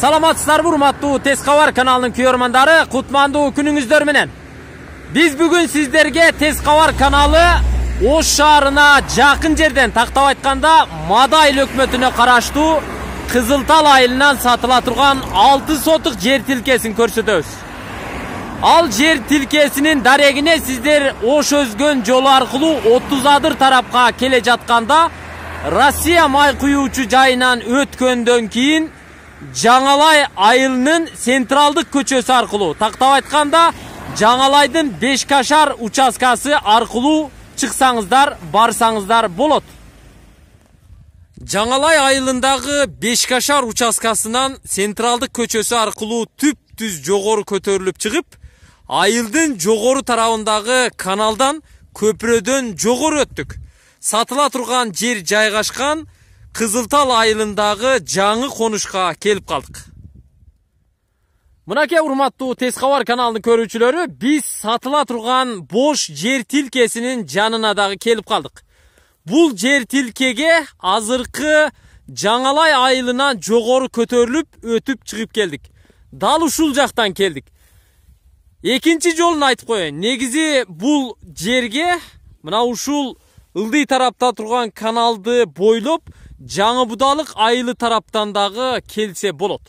Саламатсыздарбы, урматтуу Тез Кабар каналынын көрөрмандары, кутмандуу күнүңүздөр менен. Биз бүгүн сиздерге Тез Кабар каналы Ош шаарына жакын жерден, тактап айтканда Мадай өкмөтүнө караштуу Кызылтал айылынан сатыла турган 6 сотук жер тилкесин көрсөтөбүз. Ал жер тилкесинин дарегине сиздер Ош өзгөн жолу аркылуу 30 адыр тарапка келе жатканда Россия май куюучу жайынан өткөндөн кийин Жаңалай айылынын централдык көчөсү аркылуу, тактап айтканда Жаңалайдын Бешкашар участкасы аркылуу чыксаңыздар, барсаңыздар болот. Жаңалай айылындагы Бешкашар участкасынан централдык көчөсү аркылуу түп-түз жогору көтөрүлүп чыгып, айылдын жогору тарабындагы каналдан көпүрөдөн жогору өттүк. Сатыла турган жер жайгашкан Кызылтал айылындагы жаңы конушка келип калдык. Мынакей урматтуу Тез Кабар каналынын көрүүчүлөрү, биз сатыла турган бош жер тилкесинин жанына дагы келип калдык. Бул жер тилкеге азыркы Жаңалай айылынан жогору көтөрүлүп өтүп чыгып келдик. Дал ушул жактан келдик. Экинчи жолун айтып коеюн. Негизи бул жерге мына ушул ылдый тарапта турган каналды бойлоп Жаңы Будалык айылы тараптан дагы келсе болот.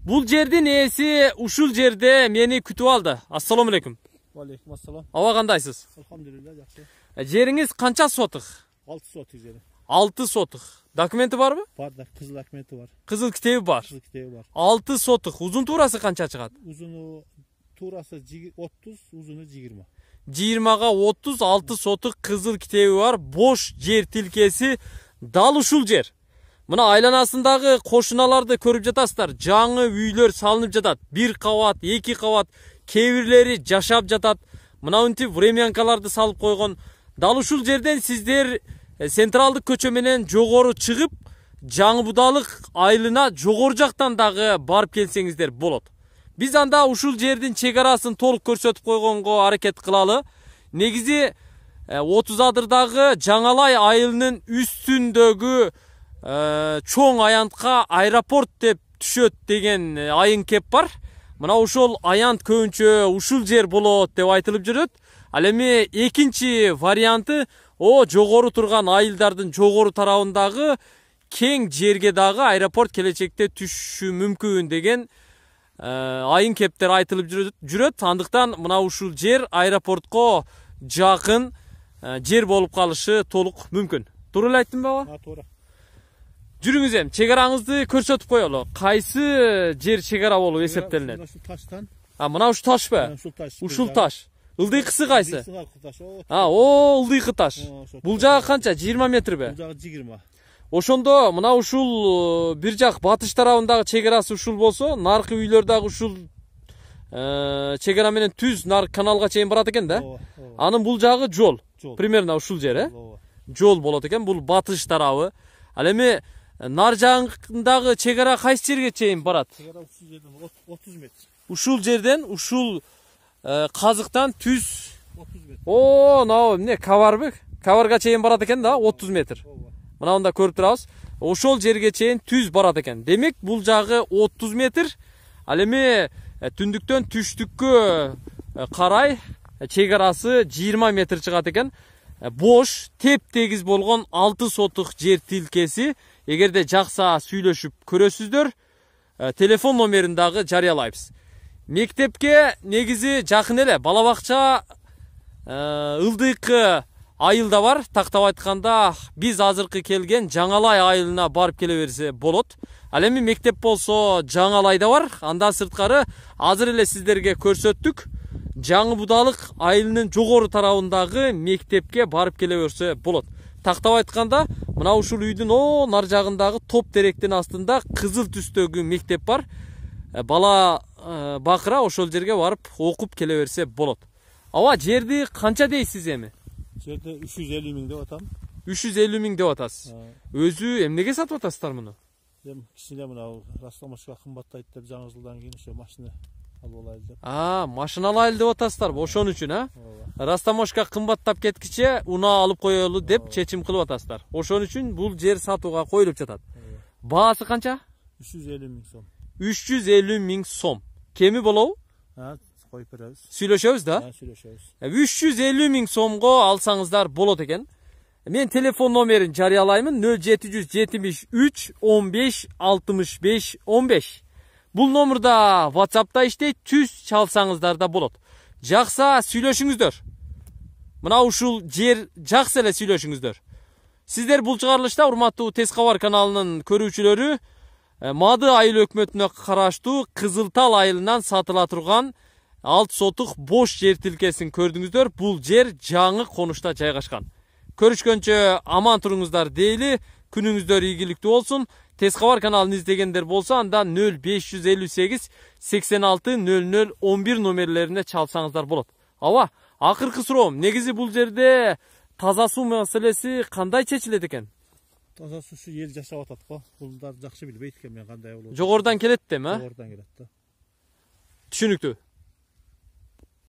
Бул жердин ээси ушул жерде мени күтүп алды. Ассаламу алейкум. Алейкум ассалам. Аба кандайсыз? Алхамдулилла, жакшы. Жериңиз канча сотук? 6 сотук жери. 6 сотук. Документи барбы? Бар да, кызыл документи бар. Кызыл китеби бар. Кызыл китеби бар. 6 сотук. Узун туурасы канча чыгат? Узуну туурасы 30, узуну 20. 20га 30, 6 сотук кызыл китеби бар, бош жер тилкеси дал ушул жер. Мына айланасындагы кошуналарды көрүп жатасыздар. Жаңы үйлөр салынып жатат. 1 кабат, 2 кабат, кээ бирлери жашап жатат. Мына ынтип времянкаларды салып койгон. Дал ушул жерден сиздер централдык көчө менен жогору чыгып, Жаңы Будалык айылына жогору жактан дагы барып келсеңиздер болот. Биз анда ушул жердин чек арасын толук көрсөтүп койгонго аракет кылалы. Негизи 30 адырдагы Жаңалай айылынын үстүндөгү чоң аянтка аэропорт деп түшөт деген айын кеп бар. Мына ошол аянт көбүнчө ушул жер болот деп айтылып жүрөт. Ал эми экинчи варианты жогору турган айылдардын жогору тарабындагы кең жерге дагы аэропорт келечекте түшүшү мүмкүн деген айын кептер айтылып жүрөт. Андыктан мына ушул жер аэропортко жакын жер болуп калышы толук мүмкүн. Туура эле айттым ба? Туура. Жүрүңүз эми чек араңызды көрсөтүп коелу. Кайсы жер чек ара болуп эсептелинет? Ушул таштан. Мына ушул ташпы? Ушул таш. Ылдыйкысы кайсы? Ылдыйкы таш. Бул жагы канча? 20 метрби? Бул жагы 20. Ошондо мына ушул бир жак батыш тарабындагы чек арасы ушул болсо, наркы үйлөр дагы ушул чек ара менен түз наркы каналга чейин барат экен да? Анын бул жагы жол. Примерно ушул жер, жол болот экен. Бул батыш тарабы. Ал эми нар жагындагы чек ара кайсы жерге чейин барат? Чек ара ушул жерден 30 метр. Ушул жерден ушул казыктан түз 30 метр. Мына эмне кабарбы? Кабарга чейин барат экен да, 30 метр. Мына онда көрүп турабыз. Ошол жерге чейин түз барат экен. Демек бул жагы 30 метр. Ал эми түндүктөн түштүккө карай чек арасы 20 метр чыгат экен. Бош, теп-тегиз болгон 6 сотук жер тилкеси. Эгерде жакса сүйлөшүп көрөсүздөр, телефон номерин дагы жарыялайбыз. Мектепке негизи жакын эле, бала бакча ылдыйкы айылда бар. Тактап айтканда биз азыркы келген Жаңалай айылына барып келе берсе болот. Ал эми мектеп болсо Жаңалайда бар. Андан сырткары азыр эле сиздерге көрсөттүк. Жаңы Будалык айылынын жогору тарабындагы мектепке барып келе берсе болот. Тактап айтканда мына ушул үйдүн нар жагындагы топ теректин астында кызыл түстөгү мектеп бар. Бала бакыра ошол жерге барып окуп келе берсе болот. Аба жерди канча дейсиз эми? Жерди 350 миң деп атам. 350 миң деп атасыз. Өзү эмнеге сатып атасыздар муну? Кичине мына растамашка кымбаттайт деп жаңы жылдан кийин ошо машина алып алайлы деп. Машина алайлы деп атасыздарбы? Ошон үчүн, растамашка кымбаттап кеткиче унаа алып коелу деп чечим кылып атасыздар. Ошон үчүн бул жер сатууга коюлуп жатат. Баасы канча? 350 миң сом. 350 миң сом. Кеми болобу? Коюп беребиз. Сүйлөшөбүз да? Сүйлөшөбүз. 350 миң сомго алсаңыздар болот экен. Мен телефон номерин жарыялаймын 0773 15 65 15. Бул номерда WhatsApp'та иштейт, түз чалсаңыздар да болот. Жакса сүйлөшүңүздөр. Мына ушул жер жаксы эле сүйлөшүңүздөр. Сиздер бул чыгарылышта урматтуу Тез кабар каналынын көрүүчүлөрү Мады айыл өкмөтүнө караштуу Кызылтал айылынан сатыла турган 6 сотук бош жер тилкесин көрдүңүздөр. Бул жер жаңы конушта жайгашкан. Көрүшкөнчө аман туруңуздар дейли. Күнүңүздөр ийгиликтүү болсун. Тез кабар каналын издегендер болсо анда 0558 86 00 11 номерлерине чалсаңыздар болот. Аба, акыркы суроом, негизи бул жерде таза суу маселеси кандай чечилет экен? Таза суусу эл жашап атат го. Булдар жакшы билбейт экен мен кандай болот. Жогорудан келет дем, а? Жогорудан келет да. Түшүнүктүү.